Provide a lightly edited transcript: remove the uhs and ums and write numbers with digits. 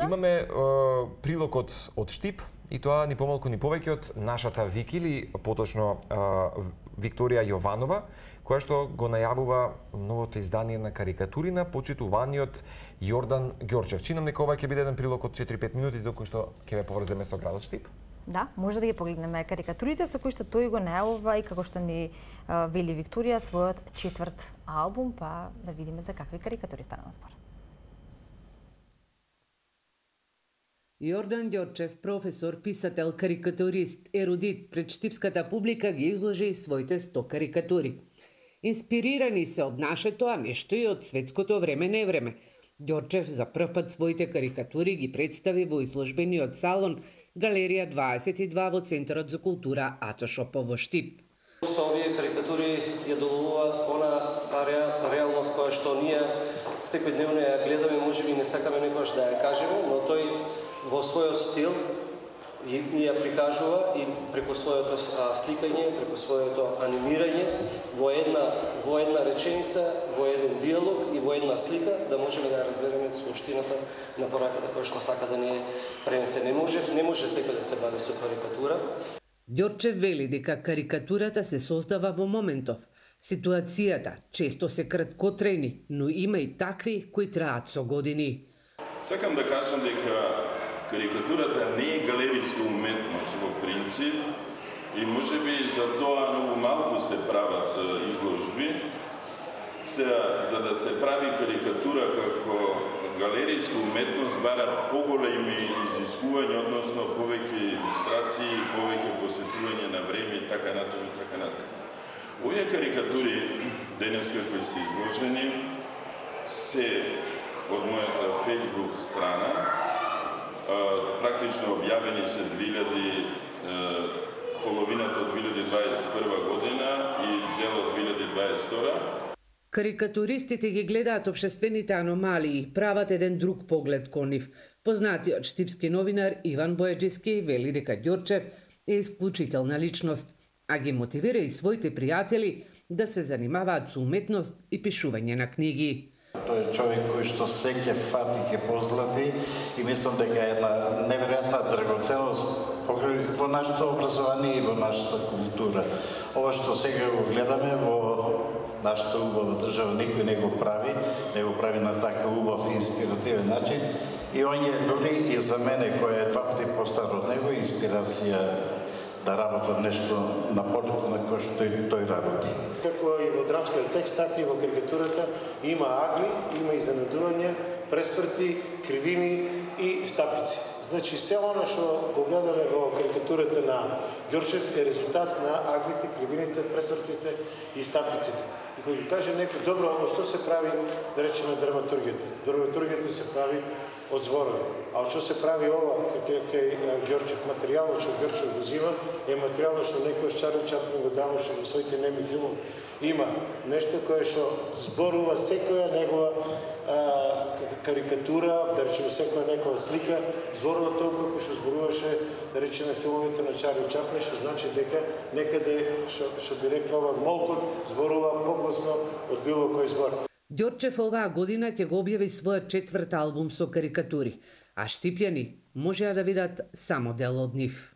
Имаме прилог од Штип, и тоа ни помалку ни повеќе од нашата Вики, или поточно Викторија Јованова, која што го најавува новото издание на карикатури на почитуваниот Јордан Ѓорчев. Чинам дека ова ќе биде еден прилог од 4-5 минути, доколку што ќе ве поврземе со градот Штип. Да, може да ги погледнеме карикатурите со кои што тој го најавува и како што ни вели Викторија својот 4-ти албум, па да видиме за какви карикатури станува збор. Јордан Ѓорчев, професор, писател, карикатурист, ерудит, пред штипската публика ги изложи своите 100 карикатури. Инспирирани се од нашето, а нешто и од светското време. Ѓорчев за прв пат своите карикатури ги представи во изложбениот салон Галерија 22 во Центарот за култура Атошопо во Штип. Со овие карикатури ја доловува она реалност која што ние секојдневно ја гледаме, можеби не сакаме некогаш да ја кажеме, но тој во својот стил ни ја прикажува и преку своето сликање, преку своето анимирање во една реченица, во еден диалог и во една слика да можеме да ја разбереме суштината на пораката која што сака да ни пренесе. Не може секој да се бави со карикатура. Ѓорчев вели дека карикатурата се создава во моментов. Ситуацијата често се краткотрени, но има и такви кои траат со години. Сакам да кажам дека карикатурата не е галериска уметност во принцип и можеби за тоа многу малку се прават изложби. За да се прави карикатура како галериска уметност барат поголеми изискувања, односно повеќе илустрации, повеќе посветување на време и така натаму. Овие карикатури денеска кои се изложени се од мојата Facebook страна, практично објавени се половината од 2021 година и дел од 2022. Карикатуристите ги гледаат општествените аномалии, прават еден друг поглед кон нив. Познатиот штипски новинар Иван Бојаджиски вели дека Ѓорчев е исклучителна личност, а ги мотивира и своите пријатели да се занимаваат со уметност и пишување на книги. Тој е човек кој што се ќе фати, ќе позлати и мислам дека е една неверојатна драгоценност во нашето образование и во нашата култура. Ова што сега го гледаме во нашата убава држава, никој не го прави на така убав и инспиративен начин. И он е дури и за мене, кој е 2 пати постар од него, инспирација да работам нешто на полето на кој што тој работи. Како и во драмскиот текст, така и во карикатурата има агли, има изненадување, пресврти, кривини и стапици. Значи, се оно што го гледаме во карикатурата на Ѓорчев е резултат на аглите, кривините, пресвртите и стапиците. И кој ги каже некој, добро, оно што се прави, да речеме драматургијата. Драматургијата се прави од зборови. А што се прави ова, кај Ѓорчев, материјалот што Ѓорчев го зима, е материјалот што некој Чарли Чаплин го даваше во своите неми филмови. Има нешто кое што зборува секоја негова карикатура, да речеме секоја некоја слика, зборува толку како што зборуваше, да речеме филмовите на Чарли Чаплин, што значи дека некаде, што би рекла ова, молкот зборува погласно од било кој збор. Ѓорчев оваа година ќе го објави својот 4-ти албум со карикатури, а штипјани можеа да видат само дел од нив.